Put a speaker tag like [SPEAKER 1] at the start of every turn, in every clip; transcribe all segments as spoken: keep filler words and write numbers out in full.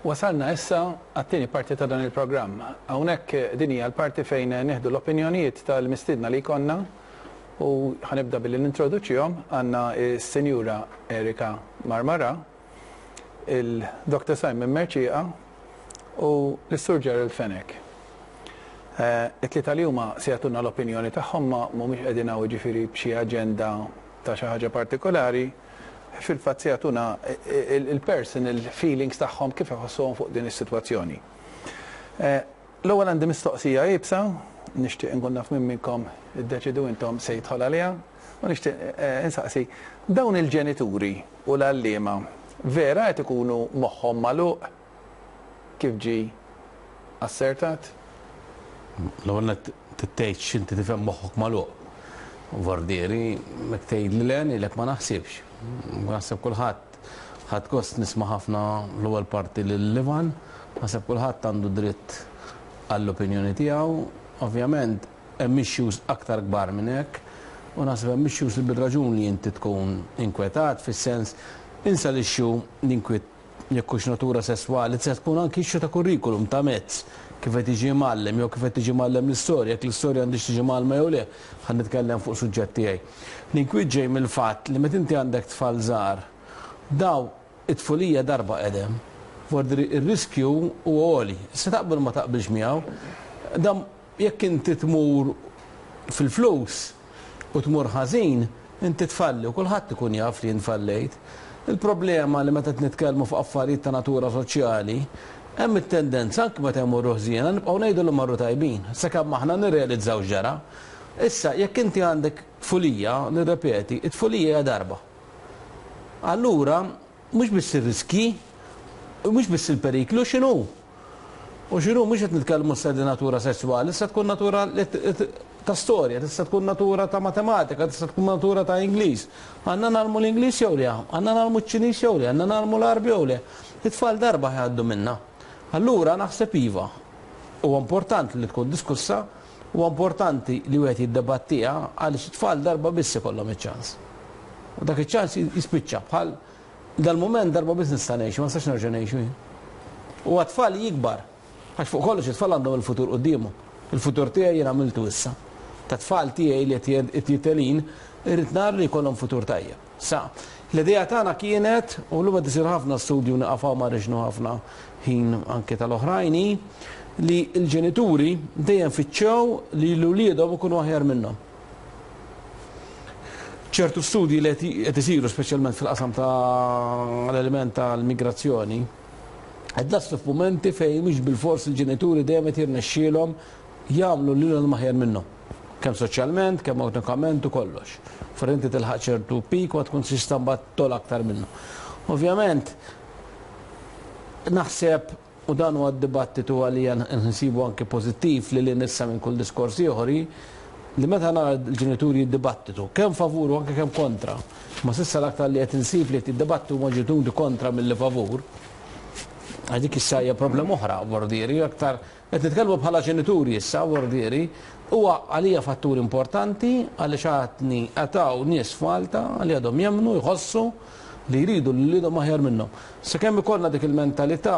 [SPEAKER 1] Wasalna issa għat-tieni parti ta' dan il-programm. Hawnhekk din hija l-parti fejn nieħdu l-opinjonijiet tal-mistiedna li jkollna u ħa nibda billi nintroduċihom. Għandna s-Sinjura Erika Marmara, il-Doktor Simon Mercieca u l-Sur Gerald Fenech. It-tlieta li huma se jagħtuna l-opinjoni tagħhom, ma mhumiex qegħdin hawn jiġifieri b'xi aġenda ta' xi ħaġa partikolari, fil-fatt se jagħtuna il-personal feelings tagħhom, kif iħossuhom fuq din is-sitwazzjoni. L-ewwel għandi mistoqsija iebsa, nixtieq inkun naf minn minnkom, iddeċidu intom, se jidħol għaliha, u nixtieq insaqsi: dawn il-ġenituri u l-għalliema vera qed ikunu moħħhom magħluq kif ġi assertat?
[SPEAKER 2] L-ewwel tgħid x'inti tifhem moħħok magħluq. Vordieri, mek tgħid li le, ngħidlek ma naħsibx. Naħseb kulħadd, ħadt gost nisma' ħafna l-ewwel parti lil Ivan, naħseb kulħadd għandu dritt għall-opinjoni tiegħu. Ovvjament hemm issues aktar kbar minn hekk u naħseb hemm issues li bil-raġun li inti tkun inkwetat, fis-sens insa l-issue l-inkwiet jekk hux natura sesswali, se tkun anki issue ta' kurrikulum, ta' mezz kif qed tiġi mgħallem jew kif qed tiġi mgħallem l-istorja, jekk l-istorja għandix tiġi mgħallma jew le, ħa nitkellem fuq suġġett tiegħi. L-inkwiet ġej mill-fatt li meta inti għandek tfal żgħar, daw it-tfulija darba qedem, vordri ir-riskju huwa għoli. Se taqbel ma taqbilx miegħu, dam jekk inti tmur fil-flus u tmur ħażin, inti tfalli u kulħadd ikun jaf li infallejt. Il-problema li meta nitkellmu fuq affarijiet ta' natura soċjali, hemm it-tendenza anke meta jmorru ħżiena nibqgħu ngħidu li marru tajbin, sakemm aħna nirrealizzaw ġara. Issa, jekk inti għandek tfulija, nirrepeti, it-tfulija hija darba. Allura, mhux biss ir-riski, mhux biss il-periklu, x'inhu? U x'inhu, mhux qed nitkellmu issa di natura sesswali, issa tkun natura ta' storja, tista' tkun natura ta' matematika, tista' tkun natura ta' Ingliż. Għandna ngħallmu l-Ingliż jew le? Għandna ngħallmu ċ-Ċiniż jew le? Għandna ngħallmu l-Għarbi jew le? It-tfal darba jgħaddu minna. Allura naħseb iva. Huwa importanti li tkun diskussa, huwa importanti li wieħed jiddebattiha għaliex it-tfal darba biss ikollhom iċ-ċans. U dak iċ-ċans jispiċċa, bħal dal-moment darba biss nista' ngħixu, ma nistax nerġa' ngħixu jien. U għat-tfal jikbar, għax fuq kollox it-tfal għandhom il-futur quddiemhom. Il-futur tiegħi jien għamiltu issa. Ta' tfal tiegħi li qed jitelin, irrid nara li jkollhom futur tajjeb. Sa, l-idea tagħna kienet, u llum qed isir ħafna studju, nieqafaw ma riġnu ħafna ħin anke tal-oħrajni, li l-ġenituri dejjem fittxew li l-uliedhom ikunu aħjar minnhom. Ċertu studji li qed isiru, speċjalment fil-qasam ta' l-element tal-migrazzjoni, qed naslu f'mumenti fejn mhux bil-fors il-ġenituri dejjem qed jirnexxielhom jagħmlu lilhom aħjar minnhom. Kemm soċjalment, kemm ekonomikament u kollox. For inti tilħaq ċertu pik u tkun tista' mbagħad togħla aktar minnu. Ovvjament, naħseb, u dan huwa d-dibattitu għalija nsibu anke pożittiv li li nissa minn kull diskors ieħor, li meta nara l-ġenituri jiddibattitu, kemm favur u anke kemm kontra, ma s'issa l-aktar li qed insib li qed jiddibattu huma ġenituri kontra milli favur. Għax dik issa hija problema oħra, vordieri, aktar qed nitkellmu bħala ġenituri issa, vordieri, huwa għalija fattur importanti għaliex għatni għataw nies f'Malta li għadhom jemmnu, jħossu li jridu li lilhom aħjar minnhom. Sakemm ikollna dik il-mentalità,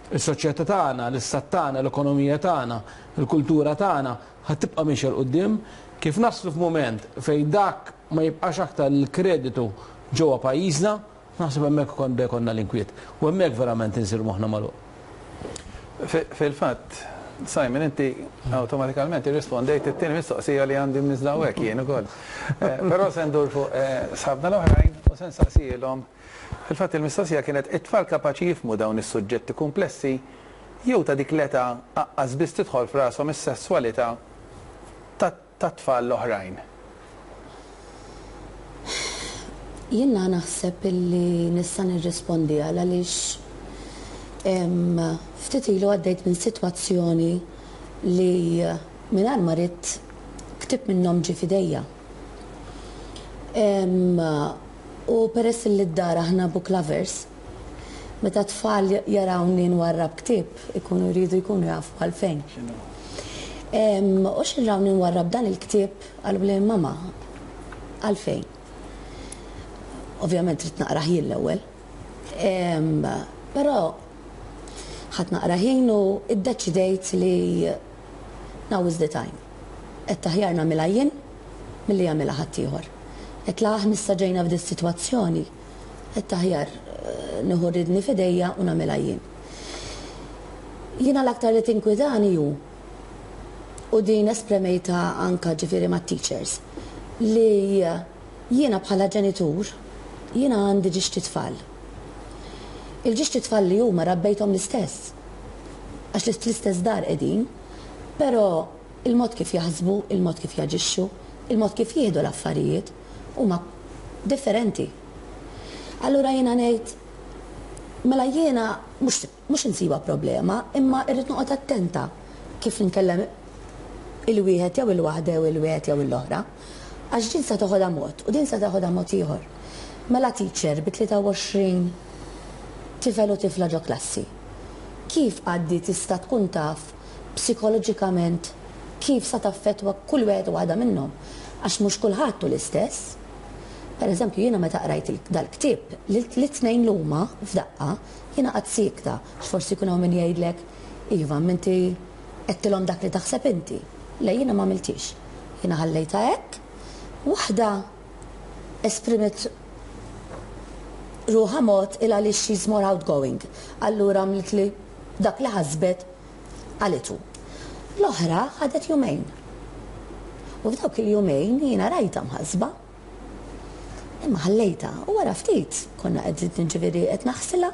[SPEAKER 2] is-soċjetà tagħna, l-istat tagħna, l-ekonomija tagħna, il-kultura tagħna ħa tibqa' mixja 'l quddiem. Kif naslu f'mument fejn dak ma jibqax aktar l-kreditu ġewwa pajjiżna, naħseb hemmhekk ukoll konna l-inkwiet. U hemmhekk verament insir moħħna magħluq.
[SPEAKER 1] Fil-fatt, Simon, inti awtomatikament irrispondejt it-tieni mistoqsija li għandi mniżla hawnhekk jien ukoll. Eh, però se ndur fuq eh, sħabna l-oħrajn u se nsaqsihom. Fil-fatt il-mistoqsija kienet: it-tfal kapaċi jifhmu dawn is-suġġetti komplessi jew ta' dik l-età aqqas biss tidħol f'rashom is-sesswalità ta' tfal l-oħrajn?
[SPEAKER 3] Jiena naħseb illi nista' nirrispondi għal għaliex ftit ilu għaddejt minn sitwazzjoni li mingħajr ma ridt ktieb minnhom ġie f'idejja. U peress li d-dar aħna book lovers, meta tfal jarawni nwarrab ktieb, ikunu jridu jkunu jafu għalfejn. U x'rawni nwarrab dan il-ktieb, qalu li mama, għalfejn? Ovvjament trid naqrah jien l-ewwel. Però Ħadt naqra ħin u iddeċidejt li now is the time. Għedt aħjar nagħmilha jien milli jagħmilha ħaddieħor. Għedt la aħna issa ġejna f'di situazzjoni, għedt aħjar eh, nieħu r-riedni f'idejja u nagħmilha jien. Jiena l-aktar li tinkwitani hu u din esprimejtha anka ġifieri ma' teachers li jiena bħala ġenitur jiena għandi żewġt itfal. Il-żewġt itfal li huma rabbejthom l-istess. Għax l-istess dar qegħdin, però il-mod kif jaħsbu, il-mod kif jaġixxu, il-mod kif jieħdu l-affarijiet huma differenti. Allura jiena ngħid mela jiena mhux mhux insiba problema, imma irrid noqgħod attenta kif nkellem il-wieħed jew il-waħda jew il-wieħed jew l-oħra. Għax din sa toħodha mod u din sa toħodha mod ieħor. Mela teacher bi tlieta u għoxrin tifel u tifla ġo klassi. Kif għaddi tista' tkun taf psikoloġikament kif sa taffetwa kull wieħed u waħda minnhom? Għax mhux kulħadd hu l-istess. Per eżempju, jiena meta qrajt il- dal-ktieb, li t-tnejn l-huma f'daqqa, jiena qatt siekta, forsi jkun hawn min jgħidlek, "Iva, inti għedtilhom dak li taħseb inti." Le, jiena ma għamiltix. Jiena ħallejta hekk, waħda esprimet ruħha mod il għaliex she's more outgoing. Allura għamlet li dak li ħasbet qalitu. L-oħra ħadet jumejn. U f'dawk il-jumejn jiena rajta mħasba. Imma ħallejta u wara ftit konna qegħdin, ġifieri qed naħsilha,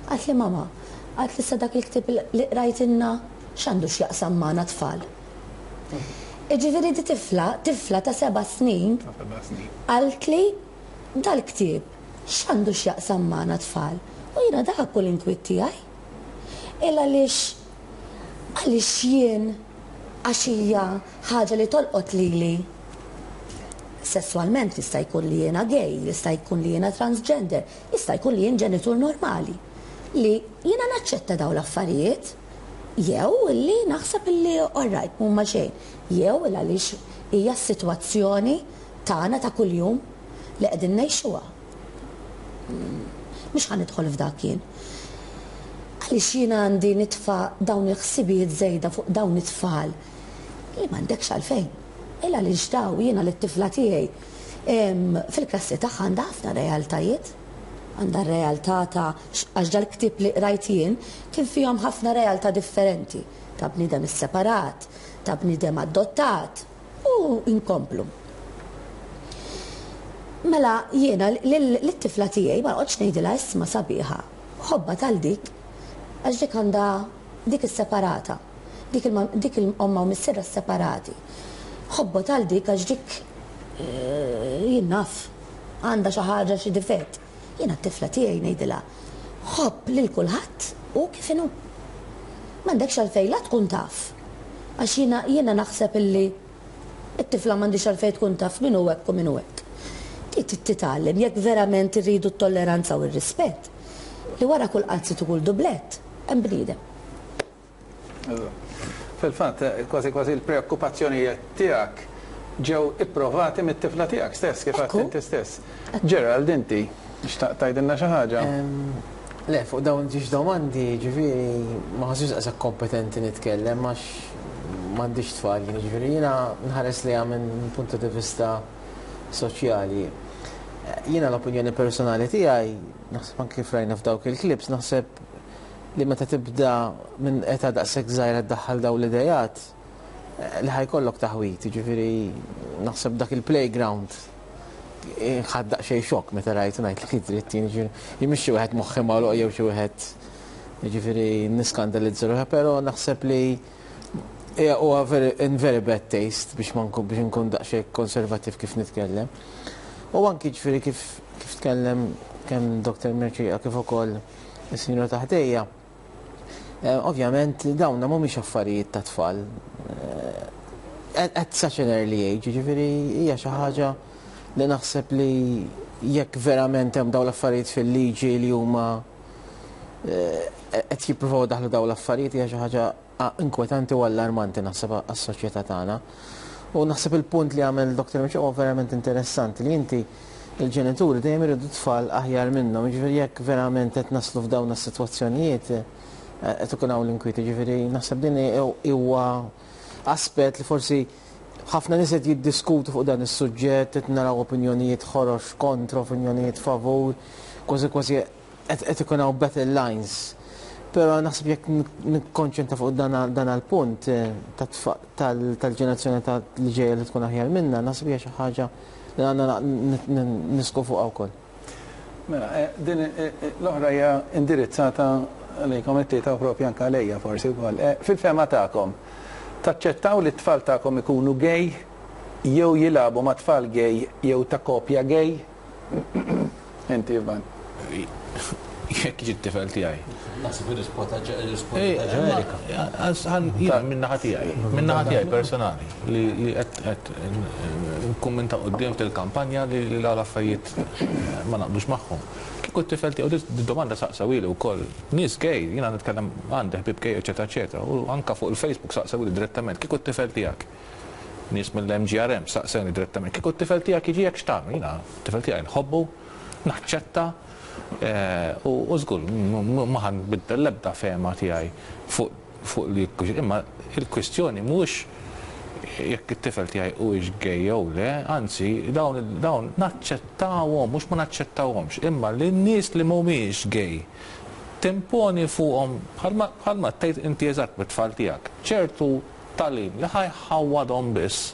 [SPEAKER 3] qaltli, "Mama," qaltli, "sa dak il-ktieb li qrajtilna x'għandu x'jaqsam magħna tfal?" Ġifieri di tifla, tifla ta' seba' snin, qaltli, "Dal-ktieb x'għandu x'jaqsam magħna tfal?" U jiena dak kull inkwiet tiegħi. Illa għaliex għaliex jien għax hija ħaġa li tolqot lili sessualment, jista' jkun li jiena gay, jista' jkun li jiena transgender, jista' jkun li jien ġenitur normali. Li jiena naċċetta daw l-affarijiet, jew li naħseb li alright, mhumma xejn, jew il għaliex hija s-sitwazzjoni tagħna ta' kuljum li qegħdin ngħixuha. Mhux ħa nidħol f'dak jien. Għaliex jiena għandi nitfa' dawn il-ħsibijiet żejda fuq dawn it-tfal li m'għandekx għalfejn? Illa għaliex daw jiena l-tifla tiegħi fil-klassi tagħha għandha ħafna realtajiet. Għandha realtà ta' għax dal-ktieb li qrajt jien kien fihom ħafna realtà differenti ta' bniedem isseparat, ta' bniedem adottat u inkomplu. Mela jiena l-tifla tiegħi ma noqgħodx ngħidilha, "Isma' sabiħa, ħobba tal dik għax dik għandha dik is-separata, dik il-omma u missierha separati. Ħobba tal dik għax dik eh, jien naf għandha xi ħaġa, xi difett." Jiena t-tifla tiegħi ngħidilha, "Ħobb lil kulħadd u kif inhu. M'għandekx għalfejn la tkun taf." Għax jiena jiena naħseb illi it-tifla m'għandix għalfejn tkun taf min hu hekk u min hu hekk. Trid titgħallem, jekk verament irridu t-tolleranza u r-rispett, li wara kull qalziet u kull dublett hemm bniedem.
[SPEAKER 1] Fil-fatt, kważi kważi l-preokkupazzjonijiet tiegħek ġew ipprovati mit-tifla tiegħek stess, kif għedt inti stess. Gerald, inti xtaqt tgħidilna xi ħaġa?
[SPEAKER 4] Le, fuq dawn żewġ domandi, ġifieri, ma nħossnix daqshekk kompetenti nitkellem, għax m'għandix tfal, ġifieri, jiena nħares li minn punto di vista soċjali. Jiena l-opinjoni personali tiegħi, naħseb anke kif rajna f'dawk il-clips, naħseb li meta tibda minn età daqshekk żgħira ddaħħal daw l-idejat, li ħa jkollok taħwit, ġifieri naħseb dak il-playground ħadt daqsxejn xokk meta rajt, ngħid li dritt jien, ġifieri mhix xi wieħed moħħi magħluq jew xi wieħed ġifieri niskandalizza ruħi, però naħseb li huwa in very bad taste biex ma nkun biex nkun daqsxejn konservattiv kif nitkellem. U anki ġifieri kif kif tkellem kemm Doktor Mercieca kif ukoll is-sinjura ta' ħdejja. Eh, ovvjament dawna mhumiex affarijiet ta' tfal. Eh, at such an early age, ġifieri hija xi ħaġa li naħseb li jekk verament hemm dawn l-affarijiet fil-liġi li huma eh, qed jippruvaw daħlu dawn l-affarijiet, hija xi ħaġa inkwetanti u allarmanti naħseb għas-soċjetà tagħna. U naħseb il-punt li għamel Doktor Miċ huwa verament interessanti, li inti il-ġenituri dejjem iridu tfal aħjar minnhom, jiġifieri jekk verament qed naslu f'dawn is-sitwazzjonijiet qed ikun hawn l-inkwiet, ġifieri naħseb din huwa aspett li forsi ħafna nies qed jiddiskutu fuq dan is-suġġett, qed naraw opinjonijiet ħorox kontra, opinjonijiet favur, kważi kważi qed ikun hawn battle lines. Però naħseb jekk nikkonċentra fuq dan għal-punt tal-ġenerazzjoni li ġejja li tkun aħjar minna, naħseb hija xi ħaġa li għandna nisku fuqha wkoll.
[SPEAKER 1] Mela, din l-oħra hija indirizzata lejkom it-tlieta u propju anke għalejja forsi wkoll. Fil-fehma tagħkom, taċċettaw li t-tfal tagħkom ikunu gay jew jilagħbu ma' tfal gay jew ta' kopja gay? Inti, Ivan.
[SPEAKER 5] Jekk jiġi t-tifel tiegħi.
[SPEAKER 2] Naħseb ir-risposta ġenerika.
[SPEAKER 5] Jiena min-naħa tiegħi, min-naħa tiegħi personali li qed nkun minn ta' quddiem fil-kampanja li l-affarijiet ma naqblux magħhom. Kieku t-tifel tiegħu di domanda saqsawili wkoll nies gay, jiena nitkellem għandi ħbieb gay, eċetera, eċetera, u anka fuq il-Facebook saqsawili direttament, kieku t-tifel tiegħek nies mill-M G R M saqsewni direttament, kieku t-tifel tiegħek jiġi hekk x'tagħmel? Jiena t-tifel tiegħi nħobbu, naċċetta, u żgur ma ħa nbiddel l-ebda fehma tiegħi fuq li imma il-kwistjoni mhux jekk it-tifel tiegħi huwiex gay jew le, anzi dawn dawn naċċettawhom, mhux ma naċċettawhomx, imma li n-nies li mhumiex gay timponi fuqhom bħalma tgħid inti eżatt bit-tfal tiegħek ċertu tagħlim li ħa jħawwadhom biss.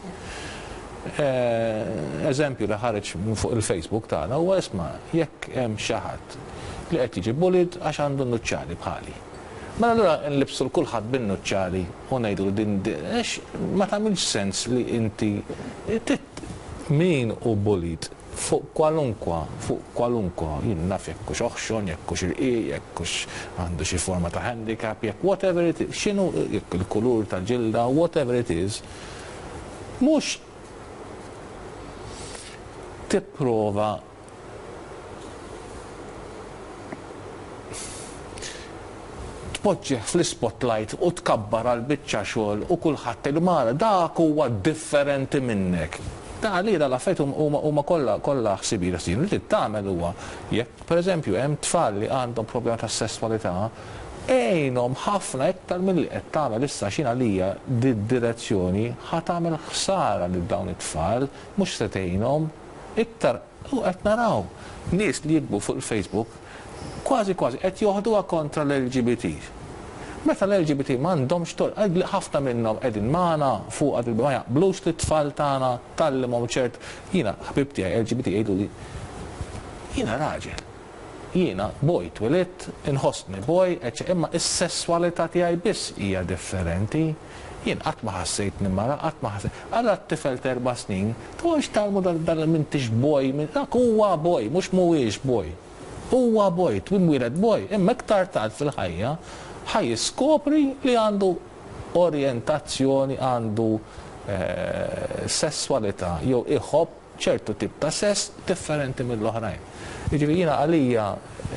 [SPEAKER 5] Eżempju li ħareġ fuq il-Facebook tagħna huwa, isma', jekk hemm xi ħadd li qed jiġi bullied għax għandu nuċċali bħali. Mela allura nlibsu l kulħadd bin-nuċċali u ngħidu din għax ma tagħmilx sens li inti min hu bullied fuq kwalunkwa, fuq kwalunkwa, jien naf jekk hux oħxon, jekk hux irqiq, jekk hux għandu xi forma ta' handicap, jekk whatever it is, x'inhu, jekk il-kulur tal-ġilda, whatever it is, mhux tipprova tpoġġih fl-spotlight u tkabbar għal biċċa xogħol u kulħadd tgħidu mara dak huwa differenti minnek. Da li da l-affarijiet huma kollha kollha ħsibijiet li trid tagħmel huwa jekk pereżempju hemm tfal li għandhom problema ta' sesswalità, għinhom ħafna iktar milli qed tagħmel issa x'in għalija di-direzzjoni ħa tagħmel ħsara lil dawn it-tfal, mhux se tgħinhom iktar. U qed naraw nies li jikbu fuq il-Facebook kważi kważi qed joħduha kontra l-L G B T. Meta l-L G B T m'għandhomx tort, ħafna minnhom qegħdin magħna fuq għad ma jaqblux li t-tfal tagħna tgħallimhom ċert. Jiena ħbib tiegħi L G B T jgħidu li jiena raġel. Jiena boy twelidt, inħossni boy, imma is-sesswalità tiegħi biss hija differenti. Jien qatt ma ħassejtni mara, qatt ma ħassejt. Għalla t-tifel ta' erba' snin, toqgħodx tgħallmu dal m'intix boy, dak huwa boy, mhux mhuwiex boy. Huwa boy, twimwieled boy, imma iktar tard fil-ħajja ħa jiskopri li għandu orjentazzjoni, għandu eh, sesswalità jew iħobb ċertu tip ta' sess differenti mill-oħrajn. Jiġifieri jiena għalija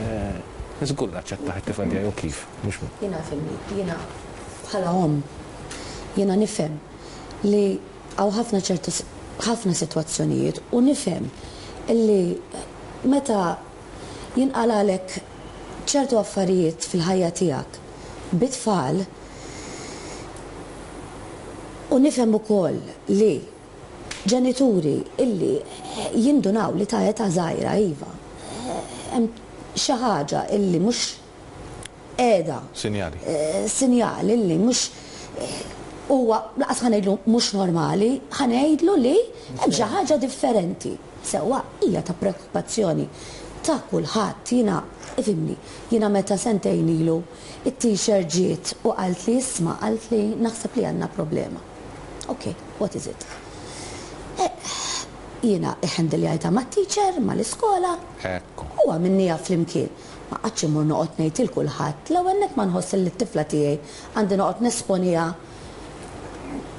[SPEAKER 5] eh, żgur naċċettah it-tifel tiegħi u kif, mhux
[SPEAKER 3] Jiena fhimni, jiena bħala omm, jiena nifhem li hawn ħafna ċertu ħafna sitwazzjonijiet u nifhem li meta jinqalalek ċertu affarijiet fil-ħajja tiegħek bit-tfal u nifhem ukoll li ġenituri illi jindunaw li ta' età żgħira iva hemm xi ħaġa illi mhux qiegħda
[SPEAKER 5] Sinjali.
[SPEAKER 3] Eh, sinjali illi mhux huwa laqas ħa ngħidlu mhux normali, ħa ngħidlu li hemm xi ħaġa differenti. Sewwa hija ta' preokkupazzjoni ta' kulħadd. Jiena ifhimni, jiena meta sentejn ilu it-teacher ġiet u qalt li isma', qalt li naħseb li għandna problema. Ok, what is it? Eh, jiena iħendiljajta ma' teacher, ma' l-iskola,
[SPEAKER 5] Ekku.
[SPEAKER 3] u għamilnieha flimkien. Ma qgħadtx immur noqgħod ngħid il kulħadd, l-ewwel nett ma nħoss li t-tifla tiegħi għandi noqgħod nesponiha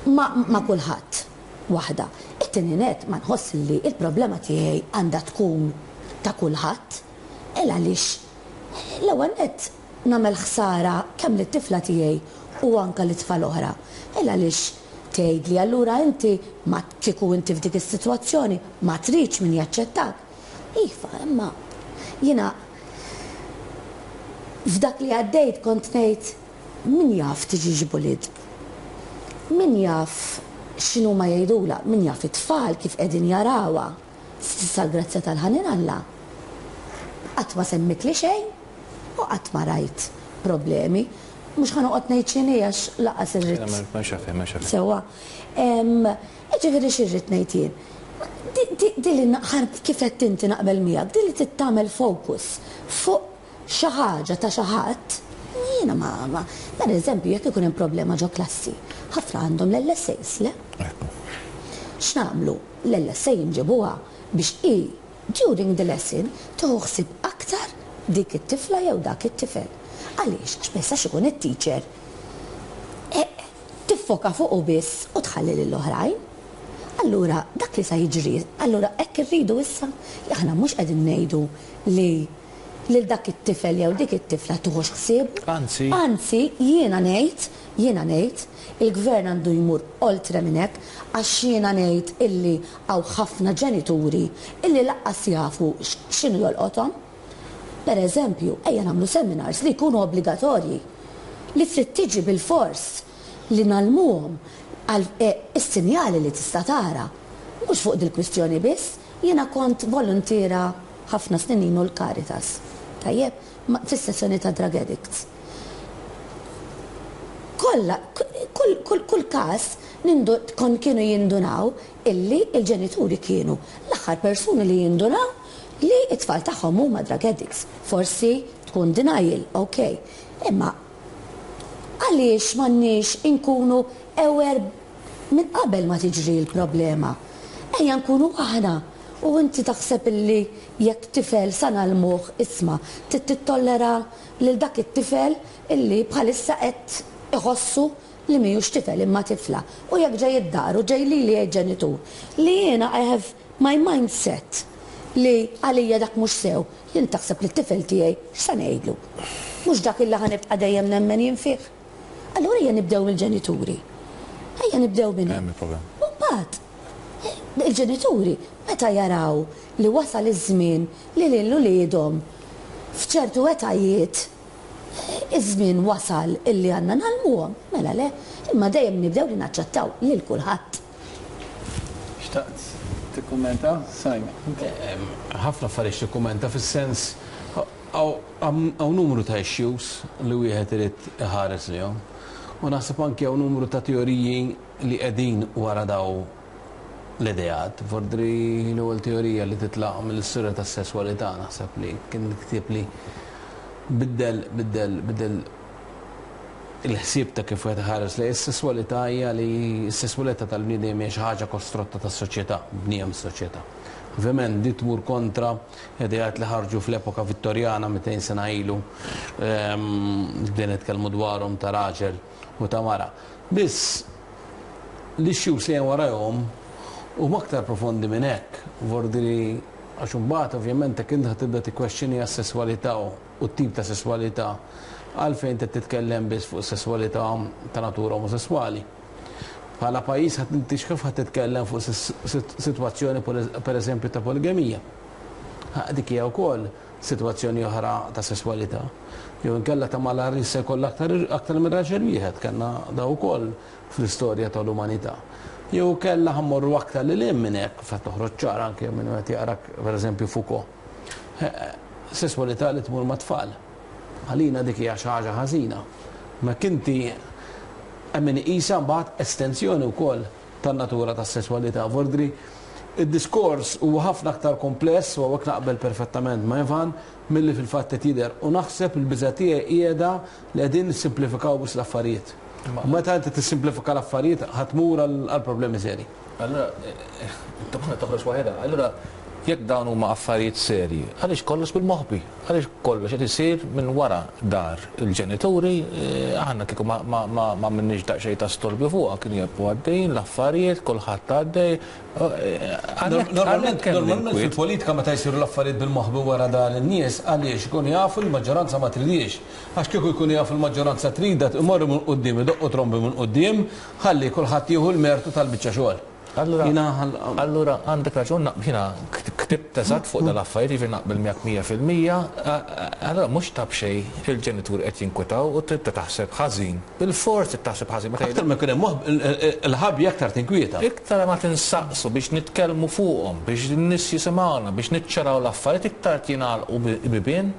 [SPEAKER 3] ma, ma kulħadd waħda. It-tieni net ma nħoss li il-problema tiegħi għandha tkun ta' kulħadd. Il għaliex l-ewwel nett nagħmel ħsara kemm lit-tifla tiegħi u anka lit-tfal oħra. Il għaliex tgħid li allura inti ma kieku inti f'dik is-sitwazzjoni ma tridx min jaċċettak. Iva, imma jiena f'dak li għaddejt kont ngħid Min jaf tiġix bullied? Min jaf x'inhu ma jgħidula? Min jaf it-tfal kif qegħdin jarawha? S'issa l-grazzja tal-ħanin Alla. Qatt ma semmitli xejn u qatt ma rajt problemi. Mhux ħa noqgħod ngħid x'inhi għax lanqas irrid. Sewwa. Ġifieri x'irrid ngħid jien. Di li naqħar kif qed inti naqbel miegħek, di li tittamel focus fuq xi ħaġa ta' xi ħadd, jiena ma, ma, per eżempju, jekk ikun hemm problema ġo klassi, ħafna għandhom l-L S As, le? X'nagħmlu? L-L S A nġibuha biex i during the lesson tieħu ħsieb aktar dik it-tifla jew dak it-tifel. Għaliex? Għax ma jistax ikun it-teacher E, tiffoka fuqu biss u tħalli lill-oħrajn. Allura, dak li sa jiġri, allura hekk irridu issa, li aħna mhux qegħdin ngħidu li lil dak it-tifel jew dik it-tifla tuħux ħsieb.
[SPEAKER 5] Anzi.
[SPEAKER 3] Anzi, jiena ngħid, jiena ngħid, il-gvern għandu jmur oltre minn hekk, għax jiena ngħid illi hawn ħafna ġenituri illi lanqas jafu x'inhu jolqothom. Per eżempju, ejja nagħmlu seminars li jkunu obbligatorji li trid tiġi bil-fors li ngħallmuhom għal eh, is-sinjali li tista' tara. Mhux fuq dil-kwistjoni biss, jiena kont volontiera ħafna snin ilu l-Caritas. Tajjeb, ma- fis-sessjoni ta' drug addicts. Kolla, kull, kull, kull kas nindu, kon kienu jindunaw illi il-ġenituri kienu l-aħħar persuni li jindunaw li it-tfal tagħhom huma drug addicts. Forsi tkun denial, ok. Imma għaliex m'għandniex inkunu aware minn qabel ma tiġri l-problema? Ejja nkunu aħna. U inti taħseb illi jekk tifel sa ngħallmuh, isma', trid tittollera lil dak it-tifel illi bħalissa qed iħossu li mhijiex tifel imma tifla. U jekk ġej id-dar u ġej li li ġenitur li jiena I have my mindset li għalija dak mhux sew, jien taħseb li t-tifel tiegħi x'sa ngħidlu? Mhux dak illi ħa nibqa' dejjem nemmen jien fih. Allura ejja nibdew mill-ġenituri. Ejja nibdew minn
[SPEAKER 5] Hemm il-problem.
[SPEAKER 3] U mbagħad il-ġenituri meta jaraw li wasal iż-żmien li lil uliedhom f'ċertu etajiet iż-żmien wasal illi għandna ngħallmuhom, mela le, imma dejjem nibdew li naċċettaw lil kulħadd.
[SPEAKER 1] Xtaqt tikkummenta, Simon?
[SPEAKER 2] Ħafna affarijiet tikkummenta, fis-sens hawn numru ta' issues li wieħed irid iħares lihom. U naħseb anke hawn numru ta' teoriji li qegħdin wara daw l-ideat. Vordri l-ewwel teorija li titlaq mill-istorja tas-sesswalità, naħseb li kien ktieb li biddel biddel biddel il-ħsieb ta' kif wieħed ħares li s-sesswalità, hija li s-sesswalità tal-bniedem hija xi ħaġa kostrutta tas-soċjetà, bniem s-soċjetà. Ovvjament di tmur kontra ideat li ħarġu fl-epoka Vittorjana mitejn sena ilu, ehm, bdejna nitkellmu dwarhom ta' raġel u ta' mara. Biss l-issues li hemm warahom huma aktar profondi minn hekk. Vordiri għax imbagħad ovvjament jekk inti tibda tikkwestjoni għas-sesswalità u t-tip ta' sesswalità, għalfejn qed titkellem biss fuq sesswalità ta' natura omosessuali? Bħala pajjiż ħadd inti kif ħadd titkellem fuq sitwazzjoni, per eżempju, ta' poligamija? Dik hija wkoll sitwazzjoni oħra ta' sesswalità. Jew inkella ta' mara li se jkollha aktar aktar minn raġel wieħed, kellna da wkoll fl-istorja tal-umanità. Jew kella ħa mmorru aktar lil hemm minn hekk, fa toħroġ ċar anke minn qed jaqrak, pereżempju, Foucault. Sesswalità li tmur ma' tfal. Għalina dik hija xi ħaġa ħażina. Ma kinti hemm min iqisha mbagħad estensjoni wkoll tan-natura tas-sesswalità. Vordri id-diskors huwa ħafna aktar kompless, u hawnhekk naqbel perfettament ma' Ivan, milli fil-fatt qed jidher, u naħseb il-biża' tiegħi qiegħda li qegħdin nissimplifikaw biss l-affarijiet. U meta inti tissimplifika l-affarijiet, ħa tmur għal problemi seri.
[SPEAKER 5] Allura, domanda toħroġ waħedha. Allura, jekk dawn huma affarijiet serji, għaliex kollox bil-moħbi? Għaliex kollox qed isir minn wara dar il-ġenituri? eh, aħna kieku ma, ma, ma, ma minniex daqsxejn ta' storbju fuqha, kien jibqgħu għaddejjin l-affarijiet, kulħadd għaddej. Eh, għalhekk-
[SPEAKER 2] Normalment,
[SPEAKER 5] għalhekk hemm
[SPEAKER 2] normalment
[SPEAKER 5] l-inkwiet.
[SPEAKER 2] fil-politika meta jsiru l-affarijiet bil-moħbi wara dar in-nies, għaliex ikunu jafu l-maġġoranza ma tridix. Għax kieku jkunu jafu l-maġġoranza trida, imorru minn quddiem, idoqqu trombi minn quddiem, ħalli kulħadd jieħu l-mertu tal-biċċa xogħol.
[SPEAKER 5] Allura,
[SPEAKER 2] Jiena ħal-
[SPEAKER 5] allura għandek raġun, jiena Ktibt eżatt fuq dal-affarijiet, jiġifieri naqbel miegħek mija fil-mija, allura mhux ta' b'xejn il-ġenituri qed jinkwetaw u tibda taħseb ħażin. Bil-fors trid taħseb ħażin meta
[SPEAKER 2] Aktar ma jkun hemm il-ħabi aktar tinkwieta.
[SPEAKER 5] Iktar ma tinsaqsu biex nitkellmu fuqhom, biex n-nies jisimgħuna, biex niċċaraw l-affarijiet, iktar jingħalqu bibien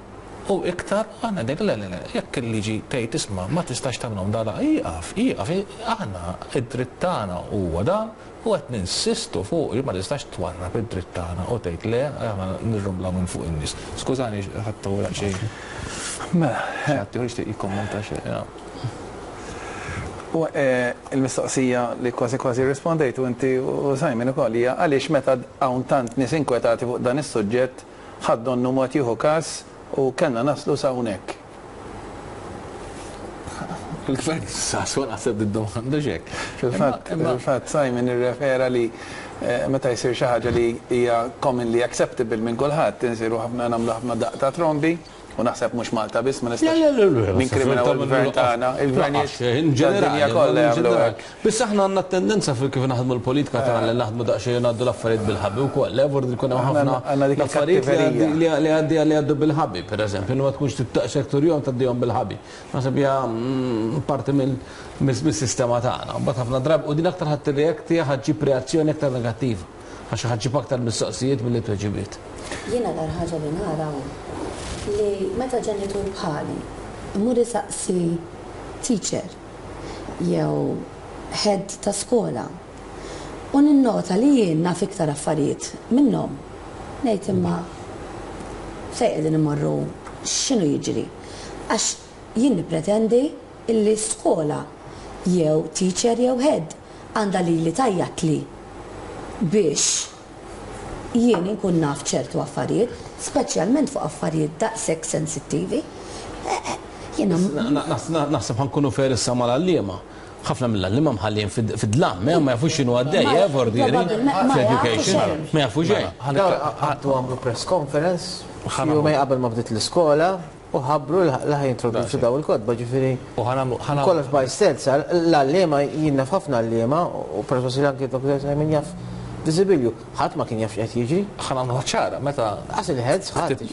[SPEAKER 5] u iktar aħna ngħidu le le le, jekk il-liġi tgħid isma' ma tistax tagħmilhom dala, ieqaf, ieqaf, aħna id-dritt tagħna huwa dan u qed ninsistu fuq li ma tistax twarrab id-dritt tagħna u tgħid le aħna nirrumblaw minn fuq in-nies. Skużani ħadd xejn.
[SPEAKER 1] Mela,
[SPEAKER 5] ħadd jixtieq jikkommenta xejn.
[SPEAKER 1] U il-mistoqsija li kważi kważi rispondejtu inti u Simon ukoll hija għaliex meta hawn tant nies inkwetati fuq dan is-suġġett ħadd donnu mod jieħu każ u kellna naslu sa hawnhekk.
[SPEAKER 5] Il-gvern saswa naħseb id-domanda xek.
[SPEAKER 1] Fil-fatt, fil-fatt Simon irrefera li meta jsir xi ħaġa li hija commonly acceptable minn kulħadd, insiru ħafna nagħmlu ħafna daqq ta' trombi, u naħseb mhux Malta biss ma nistax ninkriminaw il-gvern tagħna, il-gvernijiet tad-dinja kollha jagħmlu hekk.
[SPEAKER 2] Biss aħna għandna tendenza fil kif naħdmu l-politika tagħna li naħdmu daqsxejn ngħaddu l-affarijiet bil-ħabi wkoll. Le vordi jkun hemm ħafna affarijiet li għaddi li għaddu bil-ħabi, pereżempju, ma tkunx tittaqsek turjom tgħaddihom bil-ħabi. Naħseb hija parti mill-sistema tagħna. Mbagħad ħafna drabi u din aktar ħadd tirreakti ħa ġġib reazzjoni aktar negattiva għax ħa ġġib aktar mistoqsijiet milli tweġibiet.
[SPEAKER 3] Jiena l ħaġa li nara li meta ġenitur bħali imur isaqsi teacher jew head ta' skola u ninnota li jien naf iktar affarijiet minnhom, ngħid imma fejn qegħdin imorru, x'inhu jiġri? Għax jien nippretendi illi skola jew teacher jew head għandha lili tgħajjatli biex jien inkun naf ċertu affarijiet, speċjalment fuq affarijiet daqshekk sensittivi. Jiena
[SPEAKER 2] Naħseb ħa nkunu fair issa mal-għalliema. Ħafna mill-għalliema mħallin fid-dlam, ma jafux x'inhu għaddej, eh, vordieri, fl-education, ma jafu xejn.
[SPEAKER 4] Għaddu għamlu press conference, jumejn qabel ma bdiet l-iskola, u ħabbru li ħa jintroduċu daw il-kotba, ġifieri.
[SPEAKER 5] U ħa nagħmlu
[SPEAKER 4] Kollox by stealth, l-għalliema jien naf ħafna għalliema, u persważi anke Doktor Simon jaf Diżibilju, ħadd ma kien jaf x'qed jiġri.
[SPEAKER 5] Ħa nagħmlu ċara, meta
[SPEAKER 4] Qas il-heads ħadd.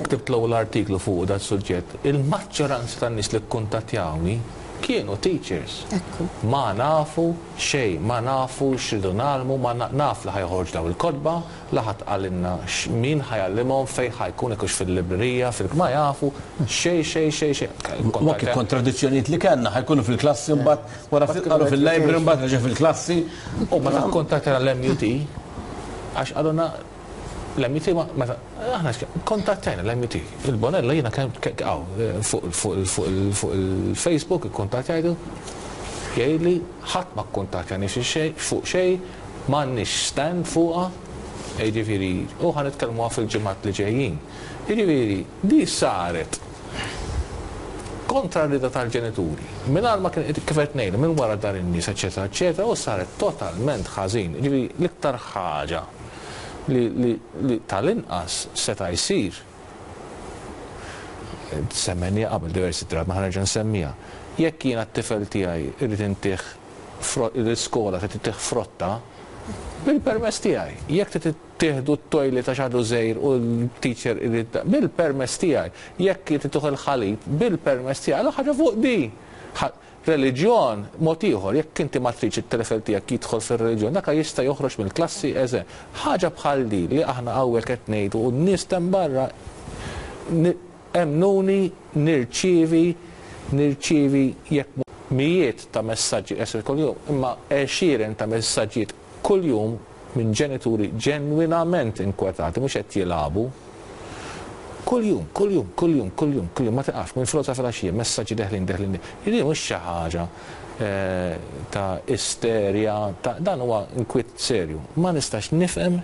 [SPEAKER 5] Ktibt l-ewwel artiklu fuq dat suġġett, il-maġġoranza tan-nies li kkuntattjawni kienu teachers.
[SPEAKER 3] Ekku.
[SPEAKER 5] Ma nafu xejn, ma nafu x'ridu nagħmlu, ma naf li ħa joħorġu daw il-kotba, la ħadd qalilna min ħa jgħallimhom, fejn ħa jkun ikux fil-librerija, fil ma jafu xejn xejn xejn xejn.
[SPEAKER 2] Ma kien kontradizzjonijiet li kellna, ħa jkunu fil-klassi mbagħad wara ftit qalu fil-library mbagħad reġa' fil-klassi.
[SPEAKER 5] U meta kkuntattjana l-M U T, għax qalulna l-M U T meta aħna kontattajna l-M U T. Il-Bonella jiena kemm fuq il-Facebook ikkuntattajtu, jgħidli ħadd ma kkuntattjani fuq xejn, m'għandniex stand fuqha, jiġifieri u ħa nitkellmuha fil-ġimgħat li ġejjin. Jiġifieri di saret kontra r-rida tal-ġenituri. Mingħajr ma kien kif qed ngħidu minn wara dar in-nies, eċetera, eċetera, u saret totalment ħażin. Jiġifieri l-iktar ħaġa li, li, li tal-inqas seta' jsir semmejnieha qabel diversi drabi, ma ħa nerġa' nsemmija. Jekk jiena t-tifel tiegħi irrid intih l-iskola trid intih frotta, bil-permess tiegħi. Jekk trid tieħdu t-toilet għax għadu żgħir u l-teacher irid bil-permess tiegħi. Jekk trid tieħu l-ħalib bil-permess tiegħi, għal ħaġa fuq di. Reliġjon, mod ieħor, jekk inti ma tridx it-tifel tiegħek jidħol fir-reliġjon, dak jista' joħroġ mill-klassi eże. Ħaġa bħal di li aħna hawnhekk qed ngħidu u n-nies hemm barra emmnuni nirċievi nirċievi jekk mijiet ta' messaġġi esser kuljum, imma għexieren ta' messaġġijiet kuljum minn ġenituri ġenwinament inkwetati, mhux qed jilagħbu. Kuljum, kuljum, kuljum, kuljum, kuljum, ma tiqafx, minn filgħodu filgħaxija, messaġġi deħlin, deħlin. Jiġifieri mhux xi ħaġa ta' isterja, ta' dan huwa inkwiet serju. Ma nistax nifhem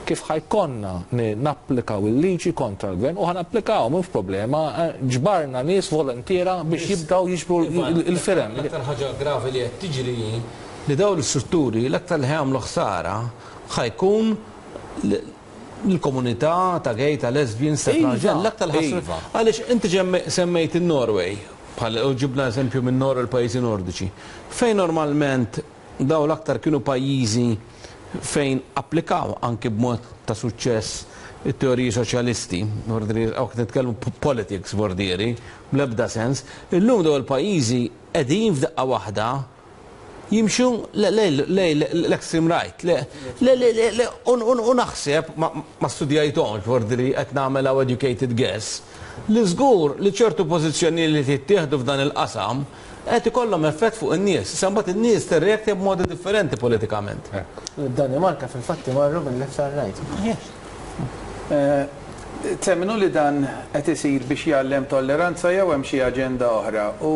[SPEAKER 5] kif ħa jkollna napplikaw il-liġi kontra l-gvern u ħa napplikaw mhux problema, ġbarna nies volontiera biex jibdaw jiġbru il-firem.
[SPEAKER 2] L-aktar ħaġa gravi li qed tiġri li dawn l-istrutturi l-aktar li ħa jagħmlu ħsara ħa jkun l-komunità ta' gay, ta' lesbians, ta' transgender, l-aktar ħasra. Għaliex inti semmejt in-Norway, bħal u ġibna eżempju minn Nor il-pajjiżi nordiċi, fejn normalment daw l-aktar kienu pajjiżi fejn applikaw anki b'mod ta' suċċess it-teoriji soċjalisti, għax nitkellmu politics vordieri, bl-ebda sens, illum daw il-pajjiżi qegħdin f'daqqa waħda jimxu lejn l-extreme right. Le, le, le, u naħseb, ma studjajthomx, vordieri qed nagħmel educated guess, li żgur li ċertu pożizzjoni li tittieħdu f'dan il-qasam qed ikollhom effett fuq in-nies. Sambat in-nies tirreakti b'modi differenti politikament.
[SPEAKER 4] Danimarka fil-fatti marru mill-left għal right.
[SPEAKER 1] Temmnu li dan qed isir biex jgħallem tolleranza jew hemm xi aġenda oħra u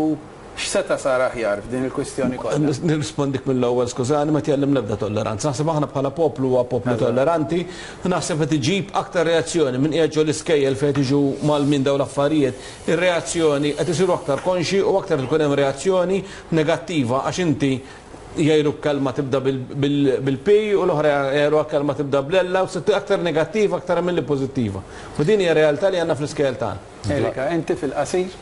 [SPEAKER 1] x'seta' sar aħjar f'din il-kwistjoni kollha?
[SPEAKER 2] Nirrispondik mill-ewwel, skużani, ma tgħallem l-ebda tolleranza. Naħseb aħna bħala poplu huwa poplu tolleranti, naħseb qed iġib aktar reazzjoni minn qiegħed ġol iskejjel fejn jiġu mal-min dawn l-affarijiet. Ir-reazzjoni qed isiru aktar konxi u aktar tkun hemm reazzjoni negattiva għax inti jgħidu kelma tibda bil-P u l-oħra jgħidu kelma tibda bl-L u aktar negattiva aktar milli pożittiva. U din hija realtà li għandna fl-iskejjel tagħna.
[SPEAKER 1] Erika, inti fil-qasir?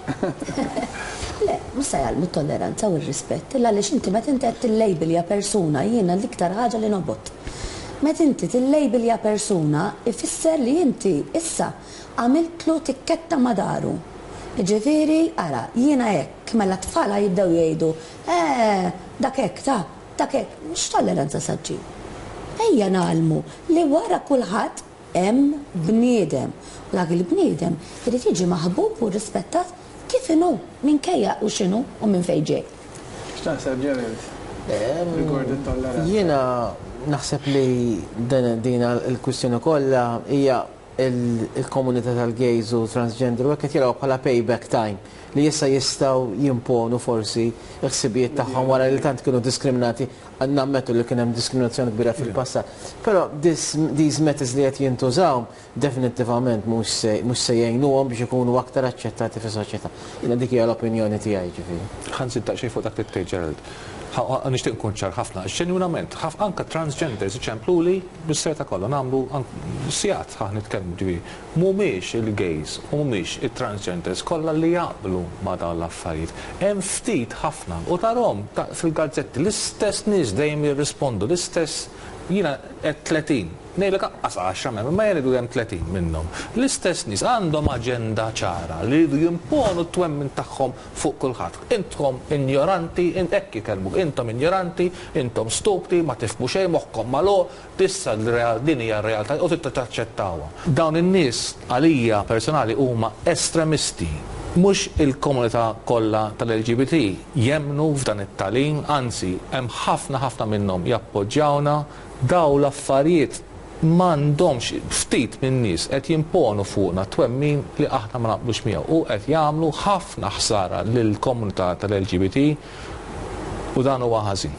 [SPEAKER 3] Le, mhux se jgħallmu t-tolleranza u r-rispett, illa għaliex inti meta inti qed tillejbilja persuna, jiena l-iktar ħaġa li nobgħod. Meta inti tillejbilja persuna, ifisser li inti issa għamiltlu tikketta ma' dahru. Ġifieri, ara, jiena hekk, mela tfala jibdew jgħidu, eh, dak hekk, ta' dak hekk, mhux tolleranza sa ġġib. Ejja ngħallmu li wara kulħadd hemm bniedem. U dak il-bniedem irid jiġi maħbub u rispettat kif inhu, minkejja u x'inhu u minn fejn ġej.
[SPEAKER 1] X'taħseb, Gerald? Rigward it-tolleranza.
[SPEAKER 4] Jiena naħseb li din il-kwistjoni kollha hija il-komunità tal-gays u transgender u qed jaraw bħala payback time li issa jistgħu jimponu forsi l-ħsibijiet tagħhom wara li tant kienu diskriminati, nammettu li kien hemm diskriminazzjoni kbira fil-passat. Però these methods li qed jintużaw definitivament mhux se jgħinuhom biex ikunu aktar aċċettati fis-soċjetà. Jiena dik hija l-opinjoni tiegħi, ġifieri.
[SPEAKER 5] Ħa nżid daqsxejn fuq dak li tgħid, Gerald. Nixtieq nkun ċar ħafna, ġenwinament, anka transgenders iċempluli bis-serjetà kollha, nagħmlu sigħat ħa nitkellmu, ġifieri. Mhumiex il-gays u mhumiex it-transgenders kollha li jaqblu ma' dawn l-affarijiet. Hemm ftit ħafna u tarahom fil-gazzetti l-istess nies dejjem jirrispondu, l-istess, jiena qed tletin, ngħidlek anqas għaxra m'hemm, ma jgħidu hemm tletin minnhom. L-istess nies għandhom aġenda ċara li jridu jimponu t-twemmin tagħhom fuq kulħadd. Intom ignoranti, hekk jikellmuk, intom ignoranti, intom stupidi, ma tifhmu xejn, moħħkom magħluq, tissa din hija r-realtà u trid taċċettawha. Dawn in-nies għalija personali huma estremisti. Mhux il-komunità kollha tal-L G B T jemmnu f'dan it-tagħlim, anzi hemm ħafna ħafna minnhom jappoġġjawna. Daw l-affarijiet m'għandhomx, ftit minn nies qed jimponu fuqna twemmin li aħna ma naqblux miegħu u qed jagħmlu ħafna ħsara lill-komunità tal-L G B T u dan huwa ħażin.